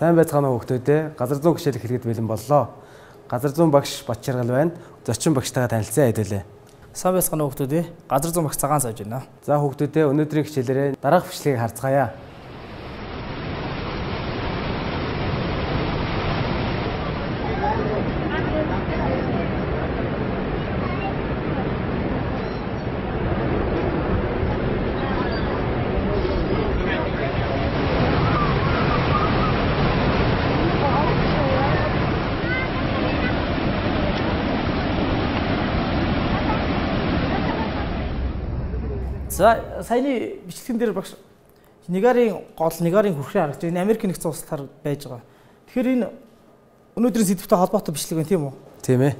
Сайн байцгаана уу хүүхдүүдээ. Газар зүүн хичээл хэлгээд бэлэн боллоо. Газар зүүн багш Батчаргал байна. Зочин багштайгаа танилцсан хэдүүлээ. Сайн байцгаана уу хүүхдүүдээ. Газар зүүн багш Цагаан сууж байна. За хүүхдүүдээ өнөөдрийн хичээлээрээ дараах бичлэгийг харцгаая. За саяны бичлэгэн дээр багш Нигарын гол Нигарын хүрхрээ харагдаж байна. Америк нэгдсэн улсаар байж байгаа. Тэгэхээр энэ өнөөдрийн сэдвтэй холбоотой бичлэг байна тийм үү? Тийм ээ.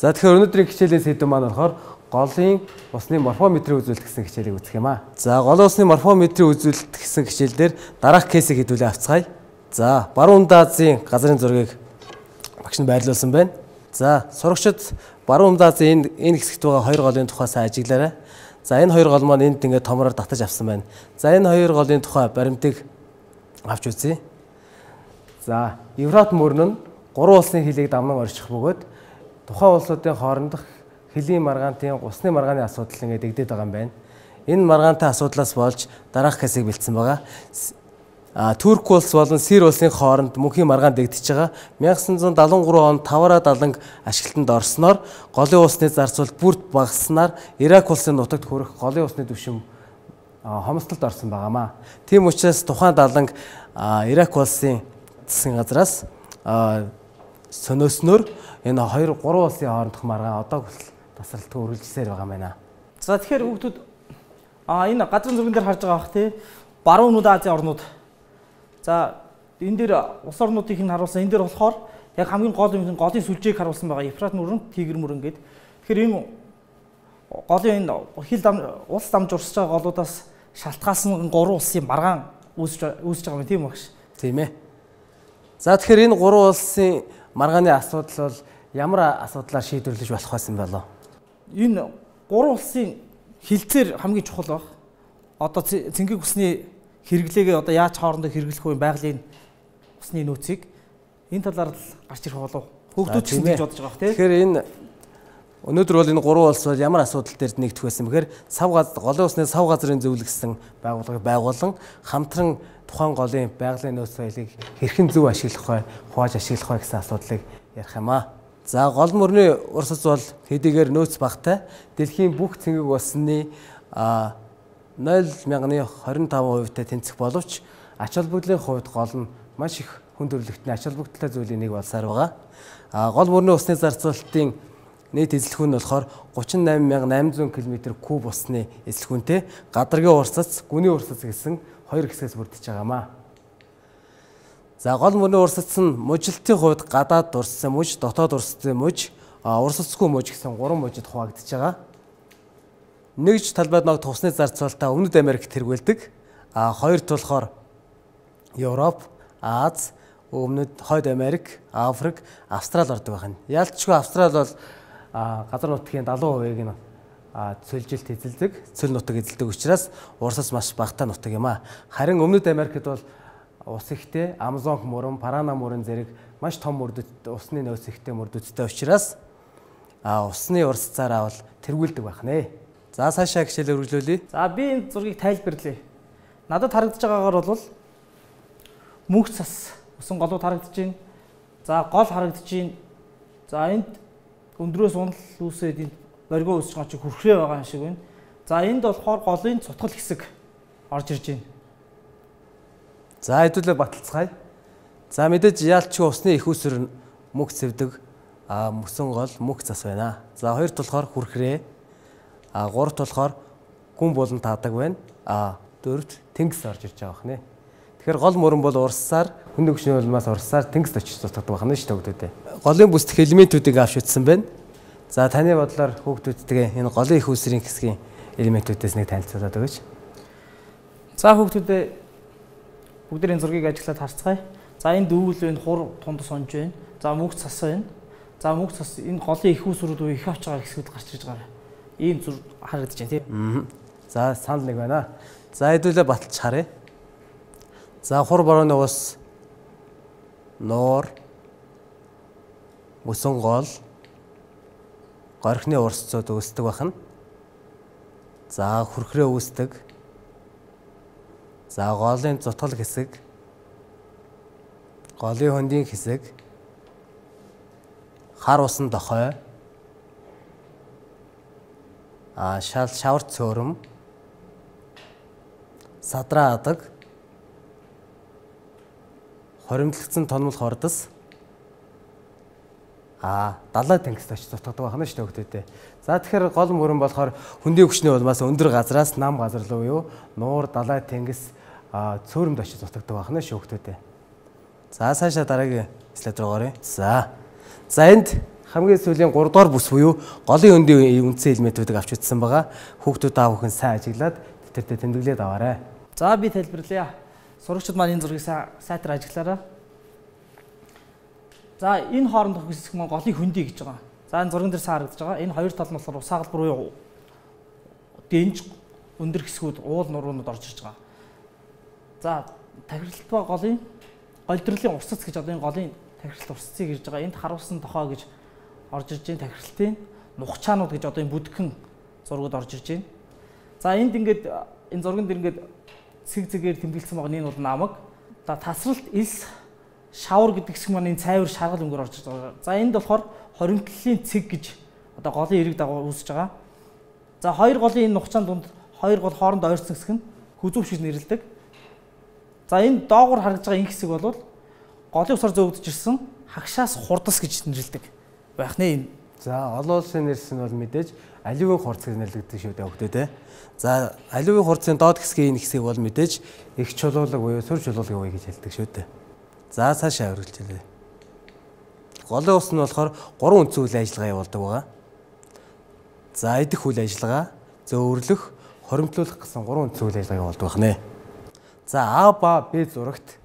За тэгэхээр өнөөдрийн хичээлийн сэдэв маань болохоор голын усны морфометрийг үзүүлэлт гэсэн хичээлийг үзэх юм аа. За голын усны морфометрийг үзүүлэлт гэсэн хичээлдэр дараах кейсийг хэдүүлээ авцгаая. За баруун Азийн газрын зургийг багш нь байрлуулсан байна. За сурагчид баруун Азийн энэ хэсэгт байгаа хоёр голын тухай сайн ажиглаарай. За энэ хоёр гол маань энд ингээд томроор татаж авсан байна. За энэ хоёр голын тухай баримтыг авч үзье. За Евфрат мөрөн нь гурван улсын хөлийг дамнан орчих бөгөөд тухайн улсуудын хоорондох хөлийн маргаантын усны маргааны асуудал ингээд дэгдээд байгаа юм байна. Энэ маргаантай асуудлаас болж дараах кейсийг бэлдсэн байгаа. Турк улс болон Сир улсын хооронд мөнхийн маргаан дэгдэж байгаа. 1973 онд 5-70 ашиглалтанд орсноор голын усны зарцуул бүрд багаснаар Ирак улсын нутагт хүрэх голын усны түвшин хомсдолд орсон байгаамаа. Тийм учраас тухайн 70 Ирак улсын засгийн газраас сонирсноор энэ 2-3 улсын хоорондох маргаан одоо тасралтгүй үргэлжилсээр байгаа юм байна. За тэгэхээр хүүхдүүд энэ газрын зурган дээр харж байгаа бах тий. Баруун Азийн орнууд. За энэ дээр улс орнуудыг нь харуулсан. Энэ дээр болохоор яг хамгийн гол юм голын сүлжээг харуулсан байгаа. Евфрат мөрөн, Тигр мөрөн гэдэг. Тэгэхээр энэ голын энэ улс дамж урсж байгаа голуудаас шалтгаалсан 3 улсын маргаан үүсэж байгаа юм тийм үү багш? Тийм ээ. За тэгэхээр энэ 3 улсын маргааны асуудал бол ямар асуудлаар шийдвэрлэж болох байсан бэ? Энэ 3 улсын хилцээр хамгийн чухал баг. Одоо цэнхэг усны хэрэглээгээ одоо яаж хоорондоо хэрэглэх вэ байгалийн усны нөөцийг энэ талаар л гарч ирэх болов. Хүүхдүүд ч ингэж бодож байгаа бох тийм. Тэгэхээр энэ өнөөдөр бол энэ 3 улс бол ямар асуудал дээр нэгдэх байсан бэхээр голын усны сав газрын зөвлөгсөн байгууллагыг байгуулан хамтран тухайн голын байгалийн нөөц соёлыг хэрхэн зөв ашиглах вэ, хувааж ашиглах вэ гэсэн асуудлыг ярих юм аа. За гол мөрний урсц бол хэдийгээр нөөц багтай дэлхийн бүх цэнгэг усны 0.25% тэнцэх боловч ач холбогдлын хувьд гол нь маш их хүн төрөлхтний ач холбогдолтой зүйлийн нэг болсаар байгаа. Гол мөрний усны зарцуулалтын нийт эзлэх нь болохоор 38800 км3 усны эзлэх үнэтэй гадаргийн урсц, гүний урсц гэсэн хоёр хэсгээс бүрдэж байгаамаа. За гол мөрний урсц нь мужлалтын хувьд гадаад урсцын муж, дотоод урсцын муж, урсцгүй муж гэсэн 3 мужид хуваагдж байгаа. Нэгж талбайд ногдох усны зарцуулалтаа Өмнөд Америкт хэрэгэлдэг. Хоёрт болохоор Европ, Аз, Өмнөд Хойд Америк, Африк, Австрали ордог байна. Яалтчгүй Австрали бол газар нутгийн 70%-ийг нь цөлжилт эзэлдэг, цөл нутаг эзэлдэг учраас урсц маш багатай нутаг юм аа. Харин Өмнөд Америкт бол ус ихтэй, Амазон мөрөн, Парана мөрөн зэрэг маш том мөрдөд усны нөөц ихтэй мөрдөдтэй учраас усны урсцаараа бол тэргүүлдэг байх нэ. За цаашаа хичээлээ үргэлжлүүлье. За би энэ зургийг тайлбарлая. Надад харагдаж байгаагаар бол мөнх цас усан голууд харагдаж байна. За гол харагдаж байна. За энд өндрөөс унал үүсээд энд боргоо үүсэж байгаа чи хүрхрээ байгаа юм шиг байна. За энд болохоор голын цутгал хэсэг орж ирж байна. За хэдүүлээ баталцгаая. За мэдээж яалчгүй усны их усүр мөнх цэвдэг мөсөн гол мөнх цас байна. За хоёрт болохоор хүрхрээ. Гуравт болохоор гүн болон таадаг байна. Дөрөвт тэнгис орж ирж байгаа бахнэ. Тэгэхээр гол мөрөн бол урсаар хүнд өгчний улмаас урсаар тэнгис очиж цуцдаг бахна шүү дээ хүүхдүүдээ. Голын бүсдэх элементүүдийг авч үзсэн байна. За таны бодлоор хүүхдүүдтэйгээ энэ голын их усрын хэсгийн элементүүдээс нэг танилцуулаад өгөөч. За хүүхдүүдээ бүгдийн зургийг ажиглаад харцгаая. За энэ дүүл байна, хур тунд сонж байна. За мөнх цас байна. За мөнх цас энэ голын их усрууд их авч байгаа хэсгүүд гарч ирж байгаа. Ийм зүр харагдаж байна тийм. За санал нэг байна. За хэдүүлээ баталж харъя. За хур борооны ус нуур, мөсөн гол, горхины урсцууд үүсдэг бахна. За хүрхрээ үүсдэг. За голын зутгал хэсэг, голын хөндийн хэсэг, хар усан дохой, шавар цөөрөм, садраа адаг, хоримтлагдсан тонмол хордос, далай тэнгист очиж зутгадаг байна шүү дээ. За тэгэхээр гол мөрөн болохоор хөндийн хүчний улмаас өндөр газраас нам газар руу юу нуур, далай тэнгис цөөрөмд очиж зутгадаг байна шүү дээ. За цаашаа дараагийн слайд руу оръё. За энд хамгийн сүүлийн 3 дугаар бүс буюу голын хөндийн үндсэн элементүүдийг авч үзсэн байгаа. Хүүхдүүд аав өхөн сайн ажиглаад тэтэртээ тэмдэглээд аваарай. За би тайлбарлая. Сурагчид маань энэ зургийг сайтар ажиглаарай. За энэ хоорондох хэсэг маань голын хөндий гэж байгаа. За энэ зурган дээр харагдаж байгаа. Энэ хоёр тал нь болохоор ус хагалбар буюу дэнж өндөр хэсгүүд уул нуруунууд орж ирж байгаа. За тахирлалт ба голын голдролын урсц гэж одоо энэ голын тахирлалт урсцыг ирж байгаа. Энд харуулсан тохой гэж орж ирж байна. Тахирлалтын нухчаанууд гэж одоо энэ бүдгхэн зургууд орж ирж байна. За энд ингээд энэ зурган дээр ингээд цэг-цэгээр тэмдэглэсэн байгаа энэ бол намаг. За тасралт элс шавар гэдэг хэсэг маань энэ цайвар шаргал өнгөөр орж ирж байгаа. За энд болохоор хоримтлалын цэг гэж одоо голын эрэг дагуу үүсэж байгаа. За хоёр голын энэ нухчаан дунд хоёр гол хооронд ойрсон хэсэг нь хүзүүв шиг нэрлэдэг. За энэ доогуур харагдаж байгаа энэ хэсэг бол голын усаар зөөгдөж ирсэн хагшаас хурдас гэж нэрлэдэг байх нэ. За олон улсын нэрс нь бол мэдээж аливын хурц гэж нэрлэгддэг шүү дээ хөгтөө те. За аливын хурцын доод хэсгийн энэ хэсгийг бол мэдээж их чулуулаг буюу сүр чулуулагын үе гэж хэлдэг шүү дээ. За цаашаа үргэлжлүүлье. Голын ус нь болохоор 3 үндсэн үйл ажиллагаа явуулдаг байгаа. За идэх үйл ажиллагаа, зөөвөрлөх, хоримтлуулах гэсэн 3 үндсэн үйл ажиллагаа явуулдаг байна. За А ба Б зурагт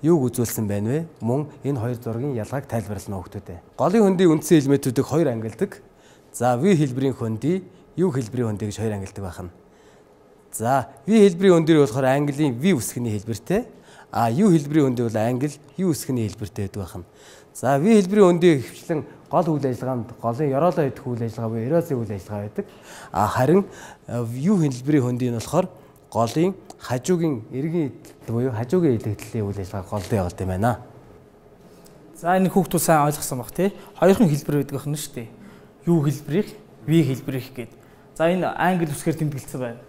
юуг үзүүлсэн байна вэ? Мөн энэ хоёр зургийн ялгааг тайлбарлана хөгтөөдөө. Голын хөндийн үндсэн элементүүдийг хоёр ангилдаг. За V хэлбэрийн хөндий, U хэлбэрийн хөндий гэж хоёр ангилдаг байна. За V хэлбэрийн хөндий болохоор английн V үсгэний хэлбэртэй. U хэлбэрийн хөндий бол англи U үсгэний хэлбэртэй байдаг байна. За V хэлбэрийн хөндий хвчлэн гол үйл ажиллагаанд голын ёроолоо идэх үйл ажиллагаа буюу эрозийн үйл ажиллагаа байдаг. Харин U хэлбэрийн хөндий нь болохоор голын хажуугийн эргийн буюу хажуугийн илэгдлийн үйл ажиллагаа голдоо явуулдаг юм байна. За энэ хүүхдүүд сайн ойлгосон баг тий. Хоёрхан хэлбэр байдаг байна шүү дээ. U хэлбэрийг, V хэлбэрийг гээд. За энэ англи үсгээр тэмдэглэсэн байна.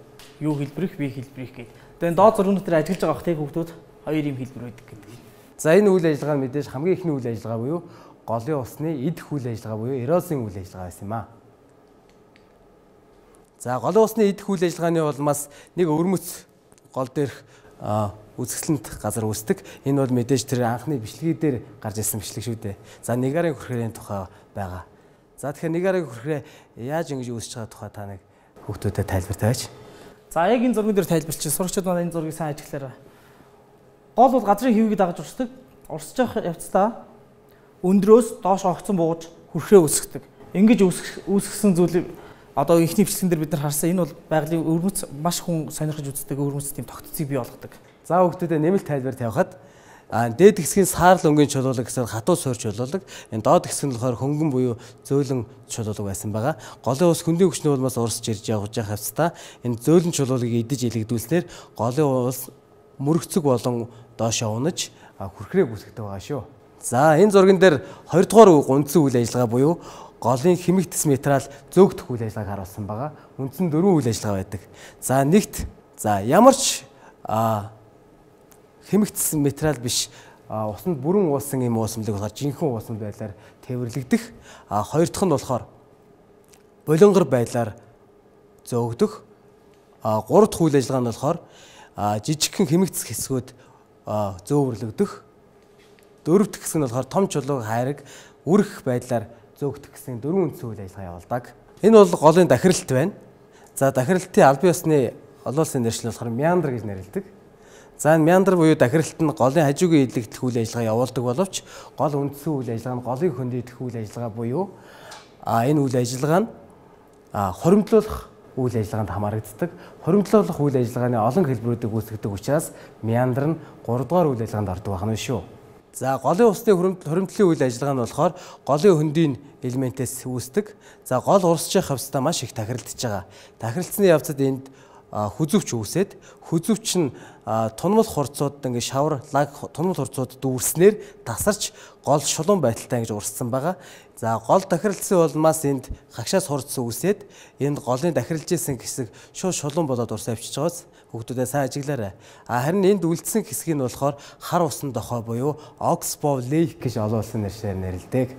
U хэлбэрийг, V хэлбэрийг гээд. Тэгээд доод зургууд дээр ажиглаж байгаа бах тий хүүхдүүд хоёр юм хэлбэр байдаг гэдэг. За энэ үйл ажиллагаа нь мэдээж хамгийн ихний үйл ажиллагаа буюу голын усны идэх үйл ажиллагаа буюу эрозийн үйл ажиллагаа байсан юм аа. За голын усны идэх үйл ажиллагааны улмаас нэг өвөрмөц гол дээрх үзэсгэлэнт газар үүсдэг. Энэ бол мэдээж тэр анхны бичлэгээ дээр гарч ирсэн бичлэг шүү дээ. За нэгарын хүрхрийн тухай байгаа. За тэгэхээр нэгарын хүрхрээ яаж ингэж үүсэж байгаа тухай та нэг хүүхдүүдэд тайлбартаач. За яг энэ зурган дээр тайлбарчих. Сурагчид маань энэ зургийг сайн ажиглаарай. Гол бол газрын хэвийг дагаж урсдаг. Урсж явах явцдаа өндрөөс доош огцон бууж хүрхрээ үүсгдэг. Ингэж үүсгэсэн зүйлийг одоо ихний бичлэгэн дээр бид нар харсан. Энэ бол байгалийн өвөрмөц маш хүн сонирхож үздэг өвөрмөц тийм тогтцыг бий болгодог. За хүүхдүүдэд нэмэлт тайлбар тавихад дээд хэсгийн саарл өнгийн чулуулаг гэсэн хатуу суур чулуулаг, энэ доод хэсэг нь болохоор хөнгөн буюу зөөлөн чулуулаг байсан байгаа. Голын ус хөндийн хүчний улмаас урсж ирж явж байгаа хавцдаа энэ зөөлөн чулуулагийг идэж илэгдүүлснээр голын ус мөрөгцөг болон доошоо унаж хүрхрээ бүсгдэг байгаа шүү. За энэ зурган дээр 2 дугаар үндсэн үйл ажиллагаа буюу голын химик тэс материал зөөгдөх үйл ажиллагааг харуулсан байгаа. Үндсэн 4 үйл ажиллагаа байдаг. За нэгт ямар ч химик тэс материал биш усанд бүрэн уусан юм уусамлаг болохоор жинхэнэ уусам байдлаар тээвэрлэгдэх. Хоёр дахь нь болохоор болонгор байдлаар зөөгдөх. Гурав дахь үйл ажиллагаа нь болохоор жижигхэн химик тэс хэсгүүд зөөвөрлөгдөх. Дөрөв дэх хэсэг нь болохоор том чулуу хайраг үрэх байдлаар зөөгдөх гэсэн 4 үндсэн үйл ажиллагаа явуулдаг. Энэ бол голын дахиралт байна. За дахиралтын албан ёсны олон улсын нэршлэл болохоор меандр гэж нэрлэдэг. За энэ меандр буюу дахиралт нь голын хажуугийн илэгдэх үйл ажиллагаа явуулдаг боловч гол үндсэн үйл ажиллагаа нь голын хөндөйдөх үйл ажиллагаа буюу энэ үйл ажиллагаа нь хоримтлуулах үйл ажиллагаанд хамаарагддаг. Хоримтлуулах үйл ажиллагааны олон хэлбэрүүдийг үүсгэдэг учраас меандр нь 3 дугаар үйл ажиллагаанд ордог байна шүү. За голын усны хуримтлалын үйл ажиллагаа нь болохоор голын хөндийн элементээс үүсдэг. За гол урсчих хавцтай маш их тахиралдж байгаа. Тахиралцсны явцад энд хүзүүвч үүсээд хүзүүвч нь тунмал хурцуудад ингээ шавар лаг тунмал хурцууд дүүрснээр тасарч гол шулуун байдалтай ингэж урссан байгаа. За гол тахиралцсан улмаас энд хагшаас хурц үүсээд энд голын тахиралж исэн хэсэг шууд шулуун болоод урсаа авчиж байгаас хүүхдүүдээ сайн ажиглаарай. Харин энд үлдсэн хэсгийг нь болохоор хар усан дохой буюу Oxbow Lake гэж олон улсын нэршээр нэрлэдэг.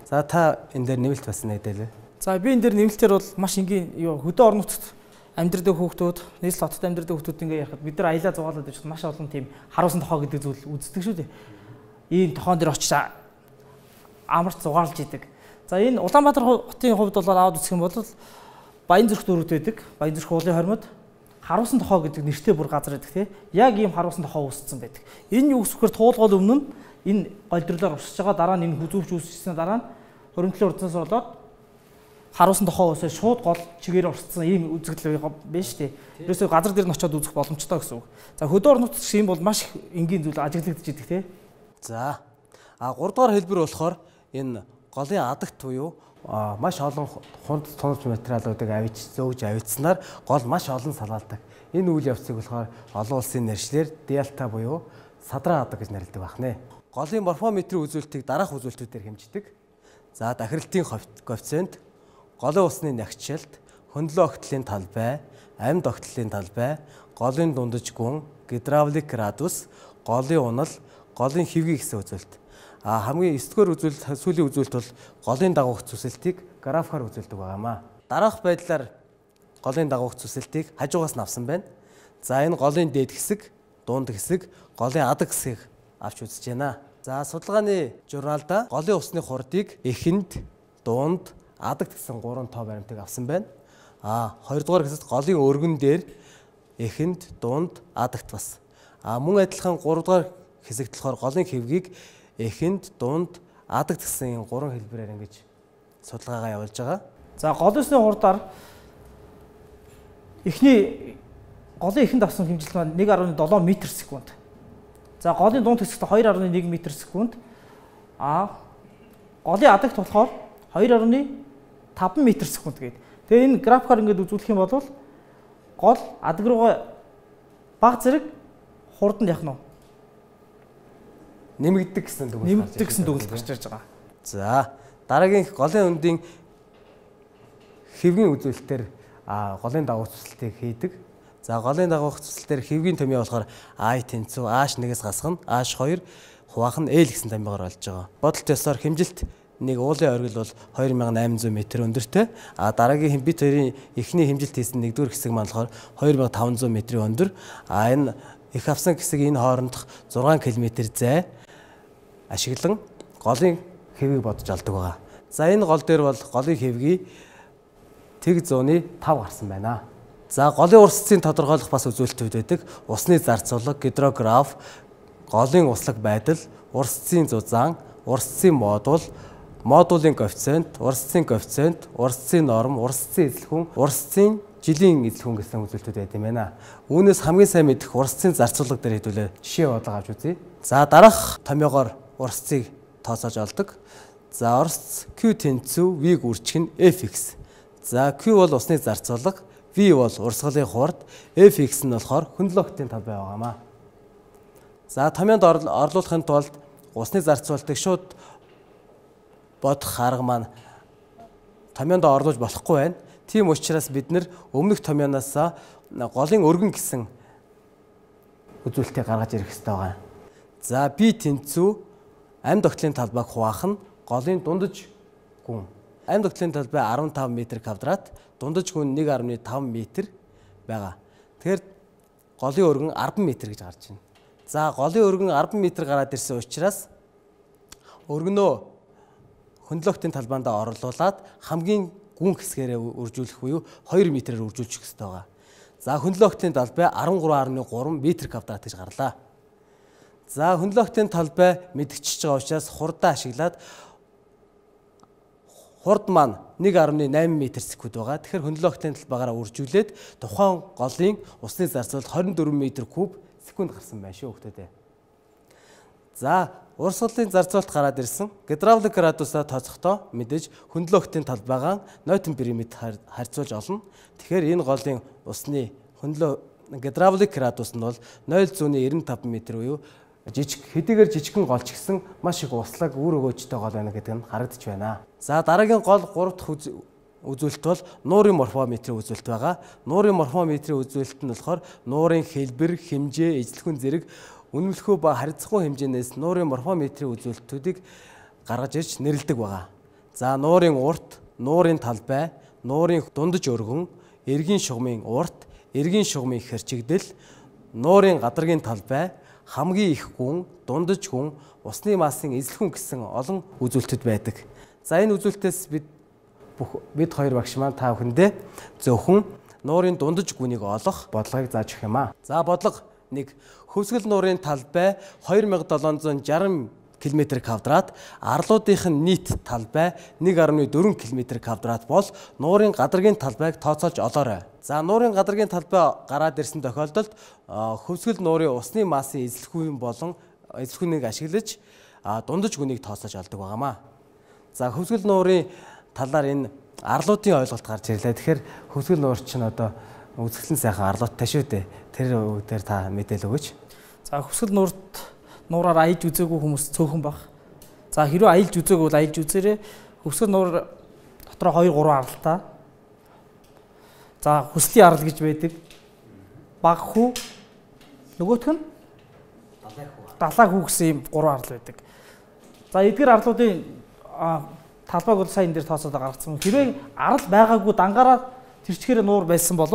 За та энэ дээр нэмэлт бас нэгдэлээ. За би энэ дээр нэмэлтээр бол маш энгийн хөдөө орон нутгад амьдрдаг хүүхдүүд, нийслэл хотод амьдрдаг хүүхдүүд ингээ ярихад бид нар аялаа зугаалаад байж маш олон тийм харуулсан тохоо гэдэг зүйл үздэг шүү дээ. Ийм тохоон дээр очиж амарч зугаалж идэг. За энэ Улаанбаатар хотын хувьд бол аваад үзэх юм бол Баянзүрх дүүрэгт байдаг. Баянзүрх уулын хормод харуулсан тохоо гэдэг нэртэй бүр газар байдаг тий. Яг ийм харуулсан тохоо үүссэн байдаг. Энэ юу гэхээр туулгал өмнө нь энэ голдролоор урсж байгаа дараа нь энэ хүзүүвч үүсчихсэн дараа нь хуримтлын урдсаас болоод харуулсан тохоо уусаа шууд гол чигээр урсцсан ийм үзэгдэл байна шүү дээ. Ерөөсөө газар дээр нь очиод үзэх боломжтой гэсэн үг. За хөдөө орон нутгад шиг юм бол маш их энгийн зүйл ажиглагдаж идэг тий. За 3 дугаар хэлбэр болохоор энэ голын адагт буюу маш олон хунд тунавч материалуудыг зөөж авицснаар гол маш олон салгаалдаг. Энэ үйл явцыг болохоор олон улсын нэршлэр дельта буюу садраа адаг гэж нэрлэдэг байна. Голын морфометрийн үзүүлэлтийг дараах үзүүлэлтүүдээр хэмждэг. За дахиралтын коэффициент, голын усны нягчлалт, хөндлөн огтлын талбай, амьд огтлын талбай, голын дундаж гүн, гидравлик градус, голын унал, голын хэвгийн гэсэн үзүүлэлт. Хамгийн 9-р үзүүлэлт сүүлийн үзүүлэлт бол голын дагуух зүсэлтийг графаар үзүүлдэг байгаамаа. Дараах байдлаар голын дагуух зүсэлтийг хажуугаас нь авсан байна. За энэ голын дээд хэсэг, дунд хэсэг, голын адаг хэсгийг авч үзэж байна. За судалгааны журналда голын усны хурдыг эхэнд, дунд, адагт гэсэн 3 тоо баримтыг авсан байна. 2 дугаар хэсэгт голын өргөн дээр эхэнд, дунд, адагт бас. Мөн адилхан 3 дугаар хэсэгт болохоор голын хэвгийг эхэнд, дунд, адагт гэсэн 3 хэлбэрээр ингэж судалгаагаа явуулж байгаа. За голын усны хурдаар голын эхэнд авсан хэмжлэл маань 1.7 м/сек. За голын дунд хэсэгт 2.1 м/сек. Голын адагт болохоор 2.5 м/сек гэдэг. Тэгээ энэ графикаар ингээд үзүүлэх юм бол гол адаг руугаа баг зэрэг хурдан яах нь нэмэгддэг гэсэн дүгнэлт гарч ирж байгаа. За дараагийн голын өндийн хэвгийн үзүүлэлтээр голын дагуух зүсэлтийг хийдэг. За голын дагуух зүсэлтээр хэвгийн томьёо болохоор I тэнцүү H1-ээс гасгана, H2 хуваах нь L гэсэн томьёогоор болж байгаа. Бодолт ёсоор хэмжилт нэг уулын оргил бол 2800 м өндөртэй. Дараагийн бит хоёрын эхний хэмжилт хийсэн нэгдүгээр хэсэг маань болохоор 2500 м өндөр. Энэ их авсан хэсэг энэ хоорондох 6 км зай ашиглан голын хэвийг бодож алдаг байгаа. За энэ гол дээр бол голын хэвгийн тэг зууны 5 гарсан байна. За голын урсцын тодорхойлох бас үзүүлэлтүүд байдаг. Усны зарцуулга, гидрограф, голын услаг байдал, урсцын зузаан, урсцын модуль, модулийн коэффициент, урсцын норм, урсцын эзлэхүүн, урсцын жилийн эзлэхүүн гэсэн үзүүлэлтүүд байд юм байна. Үүнээс хамгийн сайн мэдэх урсцын зарцуулга дээр хэдүүлээ жишээ бодлого авч үзье. За дараах томьёогоор урсцыг тооцоож олдог. За урсц Q тэнцүү, V-г үржих нь Fx. За Q бол усны зарцуулга, V бол урсгалын хурд, Fx нь болохоор хөндлөн огтлын талбай байгаамаа. За томьёонд орлуулахын тулд усны зарцуулалтыг шууд бодох арга маань томьёонд орлуулж болохгүй байна. Тийм учраас бид нэр өмнөх томьёоноос голын өргөн гэсэн үзүүлэлтийг гаргаж ирэх хэрэгтэй байна. За B тэнцүү амьд огтлын талбайг хуваах нь голын дундаж гүн. Амьд огтлын талбай 15 м², дундаж гүн 1.5 м байгаа. Тэгэхээр голын өргөн 10 м гэж гарч байна. За голын өргөн 10 м гараад ирсэн учраас өргөнөө хөндлөн огтлын талбайдаа орлуулад хамгийн гүн хэсгээрээ үржүүлэх буюу 2 м-ээр үржүүлчих хэрэгтэй байгаа. За хөндлөн огтлын талбай 13.3 м² гэж гарлаа. За хөндлөн огтлын талбай мэдгчж байгаа учраас хурдаа ашиглаад хурд маань 1.8 м/сек байгаа. Тэгэхээр хөндлөн огтлын талбайгаараа үржүүлээд тухайн голын усны зарцуулалт 24 м³ секунд гарсан байна шүү хүүхдүүдээ. За Урсгалын зарцуулалт гараад ирсэн гидравлик градусаа тооцохдоо мэдээж хөндлөлтийн талбайгаа Ньютон периметр харьцуулж олно. Тэгэхээр энэ голын усны гидравлик градус нь бол 0.95 м буюу хэдийгээр жижигхэн гол ч гэсэн маш их услаг үр өгөөжтэй гол байна гэдэг нь харагдаж байна. За дараагийн гол 3 дахь үзүүлэлт бол нуурын морфометрийн үзүүлэлт байгаа. Нуурын морфометрийн үзүүлэлт нь болохоор нуурын хэлбэр, хэмжээ, эзлэхэн зэрэг үнэмлэхүй ба харьцахгүй хэмжээнээс нуурын морфометрийн үзүүлэлтүүдийг гаргаж ирж нэрлэдэг байгаа. За нуурын урт, нуурын талбай, нуурын дундаж өргөн, эргийн шугамын урт, эргийн шугамын хэрчигдэл, нуурын гадаргын талбай, хамгийн их гүн, дундаж гүн, усны массын эзлэхэн гэсэн олон үзүүлэлтүүд байдаг. За энэ үзүүлэлтээс бид хоёр багш маань та бүхэндээ зөвхөн нуурын дундаж гүнийг олох бодлогыг зааж өгөх юм аа. За бодлого 1. Хөвсгөл нуурын талбай 2760 км², арлуудынх нь нийт талбай 1.4 км² бол нуурын гадаргын талбайг тооцоолж олоорой. За нуурын гадаргын талбай гараад ирсэн тохиолдолд хөвсгөл нуурын усны массын эзлэхүүн болон эзлэхүүнийг ашиглаж дундаж гүнийг тооцоолж олдог байгаамаа. За хөвсгөл нуурын талаар энэ арлуудын ойлголт гарч ирлээ. Тэгэхээр хөвсгөл нуур чинь одоо үзэсгэлэн сайхан арлуудтай шүү дээ. Тэр үгээр та мэдээлэл өгөөч. За хөвсгөл нуураар аялж үзээгүй хүмүүс цөөхөн баг. За хэрвээ аялж үзээгүй бол аялж үзээрэй. Хөвсгөл нуур дотроо 2-3 аралтай. За хүслийн арал гэж байдаг. Баг хүү. Нөгөөх нь далай хүү гэсэн ийм 3 арал байдаг. За эдгээр арлуудын талбайг бол сайн энэ дээр тооцоод гаргацсан. Хэрвээ арал байгаагүй дангаараа тэрчгээр нуур байсан бол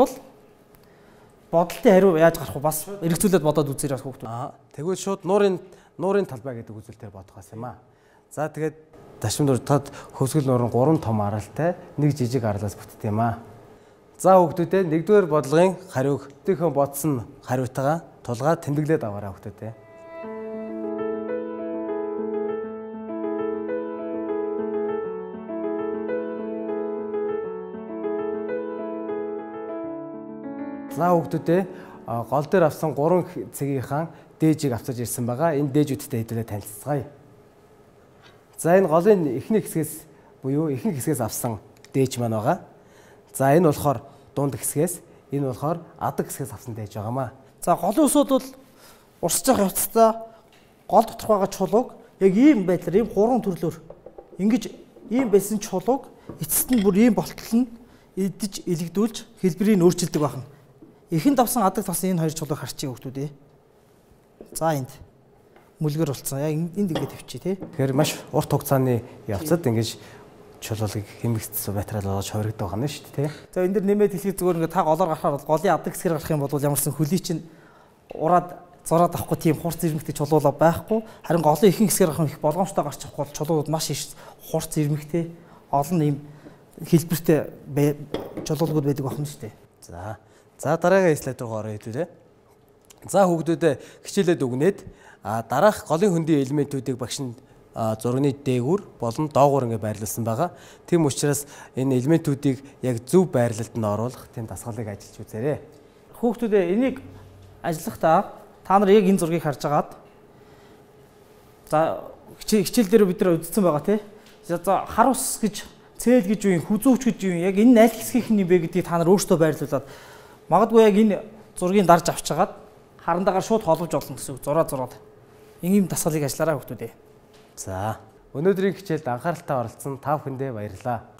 бодолтын хариу яаж гарах вэ? Бас эргцүүлээд бодоод үзээрэй хүүхдүүд. Тэгвэл шууд нуурын талбай гэдэг үзүүлэлтээр бодох байсан юм аа. За тэгээд ташмын тод хөвсгөл нуурын 3 том аралтай, 1 жижиг аралаас бүтдэг юм аа. За хүүхдүүдээ 1-р бодлогын хариуг өтөөхөн бодсон хариутайгаа тулгаад тэмдэглээд аваарай хүүхдүүдээ. За хүүхдүүдээ гол дээр авсан 3 цэгийнхаа дээжийг авчирж ирсэн байгаа. Энэ дээжүүдтэй хэдүүлээ танилцгаая. За энэ голын эхний хэсгээс буюу ихэнх хэсгээс авсан дээж маань байгаа. За энэ болохоор дунд хэсгээс, энэ болохоор адаг хэсгээс авсан дээж байгаамаа. За голын усуд бол урсж явах явцдаа гол доторх байгаа чулууг яг ийм байдлаар ийм 3 төрлөөр ингэж ийм байсан чулууг эцэст нь бүр ийм болтол нь идэж илэгдүүлж хэлбэрийг өөрчилдөг байна. Эхэнд авсан адаг тасан энэ 2 чулууг харчих хүүхдүүд ээ. За энд мүлгэр болцсон. Яг энд ингээд тавьчих тий. Тэгэхээр маш урт хугацааны явцад ингэж чулуулыг хэмэгцсэн материал болгож хувиргадаг байна шүү дээ тий. За энэ дэр нэмээд хэлхий зүгээр ингээд та голоор гарахаар бол голын адаг хэсгээр гарах юм бол ямарсан хөлий чинь ураад зураад авахгүй тийм хурц ирмэгтэй чулуулаа байхгүй. Харин голын ихэнх хэсгээр гарах их болгоомжтой гарч авахгүй бол чулууд маш их хурц ирмэгтэй олон ийм хэлбэртэй чулуулгууд байдаг байна шүү дээ. За дараагийн слайд руу орё хэвлээ. За хүүхдүүдээ хичээлээд өгнээд дараах голын хөндийн элементүүдийг багш нь зургийн дээгүүр болон доогуур ингэ байрлуулсан байгаа. Тийм учраас энэ элементүүдийг яг зөв байрлалд нь оруулах тийм дасгалыг ажиллаж үзээрэй. Хүүхдүүдээ энийг ажиллахдаа та нар яг энэ зургийг харж агаад за хичээл дээр бид нар үзсэн байгаа тий. За хар ус гэж цээл гэж юу юм, хүзүүч гэж юу юм, яг энэ аль хэсгийнх нь бэ гэдгийг та нар өөрсдөө байрлуулад магадгүй яг энэ зургийг дарж авчиагаад харандагаар шууд холбож олно гэсэн үг. Зураад. Ийм дасгалыг ажиллаарай хүүхдүүдээ. За өнөөдрийн хичээлд анхааралтай оролцсон та бүхэндээ баярлалаа.